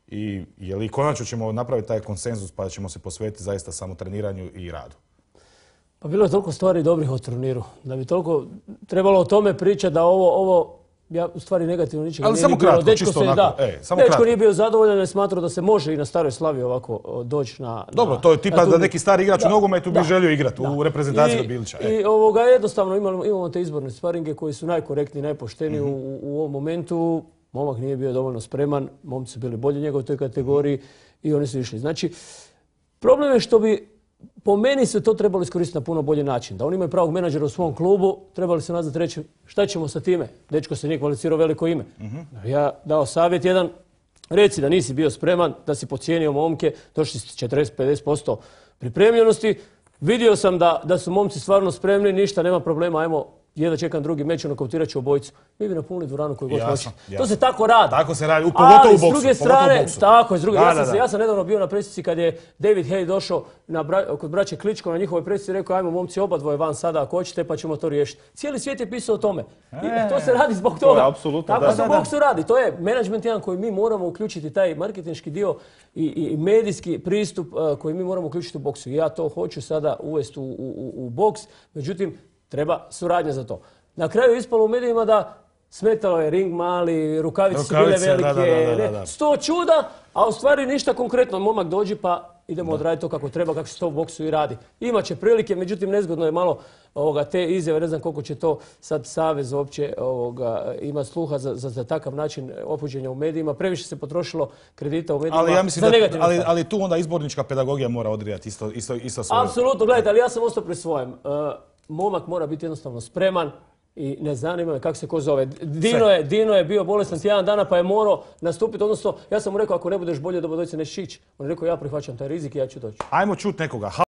I je li konačno ćemo napraviti taj konsenzus pa ćemo se posvetiti zaista samo treniranju i radu? Pa bilo je toliko stvari dobrih o turniru. Da bi toliko trebalo o tome pričati da ovo ja u stvari negativno ničega nije bilo. Ali samo kratko, čisto onako. Dečko nije bio zadovoljan jer smatrao da se može i na Staroj Slavi ovako doći na... Dobro, to je tipa da neki stari igrač u nogometu bi želio igrati u reprezentaciji od Bilića. I jednostavno imamo te izborne sparinge koji su najkorektniji, najpošteniji u ovom momentu. Momak nije bio dovoljno spreman, momci su bili bolji njegov u toj kategoriji i oni su išli. Znači, problem je što bi po meni se to trebalo iskoristiti na puno bolji način. Da oni imaju pravog menadžera u svom klubu, trebali se nazvati reći šta ćemo sa time. Dečko se nije kvalificirao veliko ime. Ja dao savjet jedan, reci da nisi bio spreman, da si podcijenio momke, došli s 40-50% pripremljenosti. Vidio sam da su momci stvarno spremni, ništa, nema problema, ajmo, jedva čekam drugi meč, nokautirat ću obojicu. Mi bi napunili dvoranu koju god hoće. To se tako radi. Tako se radi, pogotovo u boksu. Ali s druge strane, tako je, ja sam nedavno bio na presici kad je David Hay došao kod braće Kličko na njihovoj presici i rekao ajmo momci oba dvoje van sada ako hoćete pa ćemo to riješiti. Cijeli svijet je pisao o tome. I to se radi zbog toga. Tako se u boksu radi. To je menadžment jedan koji mi moramo uključiti, taj marketinški dio i medijski pristup koji mi moramo uključiti u boksu. Ja to hoću sada uvesti u boks, međutim treba suradnja za to. Na kraju je ispalo u medijima da smetalo je ring mali, rukavice su bile velike, 100 čuda, a u stvari ništa konkretno. Momak dođi pa idemo odraditi to kako treba, kako se to u boksu i radi. Imaće prilike, međutim nezgodno je malo te izjave, ne znam koliko će to sad savez uopće ima sluha za takav način opođenja u medijima. Previše se potrošilo kredita u medijima za negativno. Ali tu onda izbornička pedagogija mora odrijati isto svoje. Apsolutno, gledajte, ali ja sam ostao pri svojem. Momak mora biti jednostavno spreman i ne zanima me kako se ko zove. Dino je bio bolestan tjedan dana pa je morao nastupiti, odnosno ja sam mu rekao ako ne budeš bolje do Dobrodojice nećeš ići. On je rekao ja prihvaćam taj rizik i ja ću doći. Ajmo čuti nekoga.